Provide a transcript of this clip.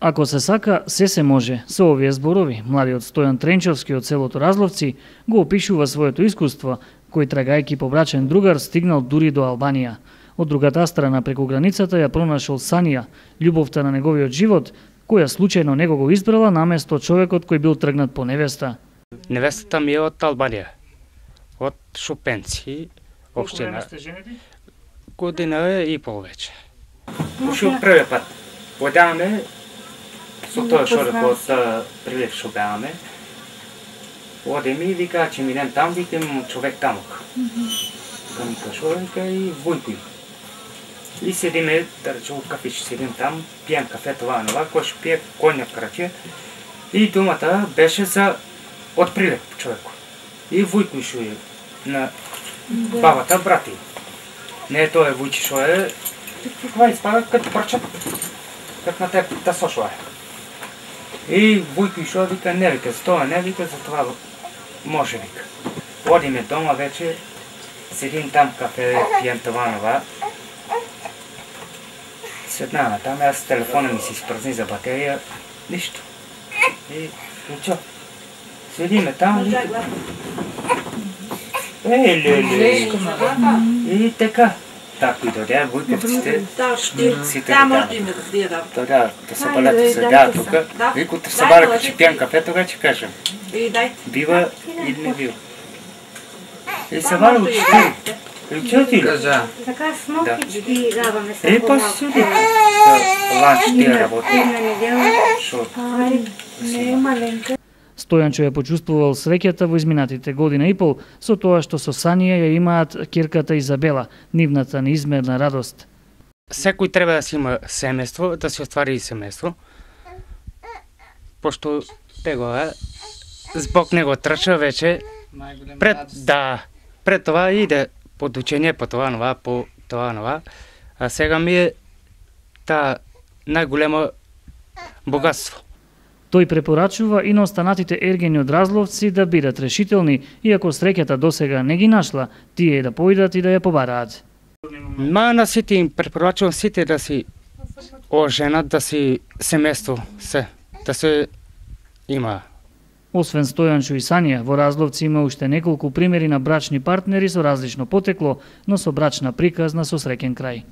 Ако се сака, се може. Со овие зборови, младиот Стојан Тренчовски од селото Разловци го опишува своето искуство, кој трагајќи по брачен другар стигнал дури до Албанија. Од другата страна преку границата ја пронашол Санија, љубовта на неговиот живот, која случајно него го избрала наместо човекот кој бил тргнат по невеста. Невестата ми е од Албанија, од Шупенци, општина. Колку време сте женети? Година и пол вече. Ушо првиот пат. Одаме со тоа шорекот прилеп шо беаме. Одеме и вика, че минем там, викам човек тамок. Кам кашоренка и војкој. И седиме, да речем, кафич, седим там, пием кафе, това, кој ще пие конјак краќе. И думата беше за од прилеп човеко. И војкој шо е на бабата брати. Не тоа е војче шо е, това испада като прчат, како на те да сошо е. И војкој шо вика, не вика, за тоа не вика, за това може вика. Одиме дома вече, седим там кафе, пием това. Седнаме там, аз телефона ми се изпразни за батерија, ништо. И чо? Седиме там, и така. Тако и дојде, војковците, сите да се балете се да тука, викот се балете, че пием кафе, тога ќе кажем. Бива или не бива. И се бала учители. Учители? Така смокич и даваме се. Па суди. Ланч тие работи. Стојанчо ја почувствувал среќата во изминатите година и пол со тоа што со Санија ја имаат ќерката Изабела, нивната неизмерна радост. Секој треба да си има семејство, да се оствари семејство. Пошто тегова због него трча вече пред това иде подучење по това нова, а сега ми е та најголемо богатство. Тој препорачува и на останатите ергени од Разловци да бидат решителни и ако среќата досега не ги нашла, тие да поидат и да ја побараат. На сите им препорачувам сите да си оженат, да си семејство, да се има. Освен Стојанчо и Санија, во Разловци има уште неколку примери на брачни партнери со различно потекло, но со брачна приказна со среќен крај.